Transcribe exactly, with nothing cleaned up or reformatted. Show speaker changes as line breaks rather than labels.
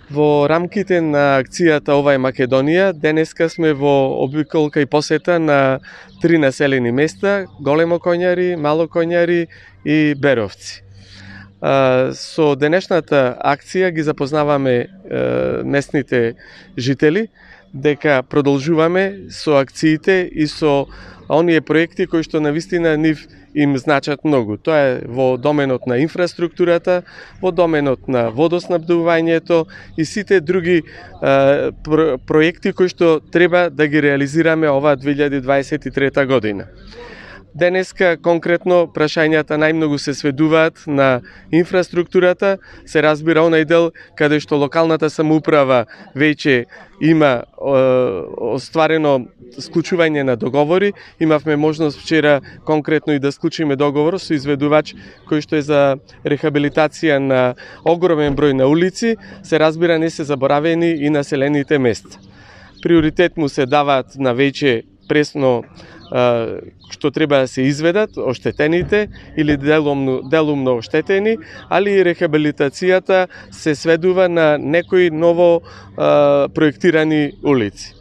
Во рамките на акцијата Ова е Македонија, денеска сме во обиколка и посета на три населени места: Големо Коњари, Мало Коњари и Беровци. Со денешната акција ги запознаваме местните жители дека продолжуваме со акциите и со оние проекти кои што навистина нив им значат многу. Тоа е во доменот на инфраструктурата, во доменот на водоснабдувањето и сите други е, про, проекти кои што треба да ги реализираме оваа две илјади дваесет и трета година. Денеска конкретно прашањата најмногу се сведуваат на инфраструктурата, се разбира онај дел каде што локалната самоуправа веќе има е, остварено склучување на договори. Имавме можност вчера конкретно и да склучиме договор со изведувач кој што е за рехабилитација на огромен број на улици. Се разбира, не се заборавени и населените места. Приоритет му се даваат на веќе пресно што треба да се изведат оштетените или делумно, делумно оштетени, али и рехабилитацијата се сведува на некои ново а, проектирани улици.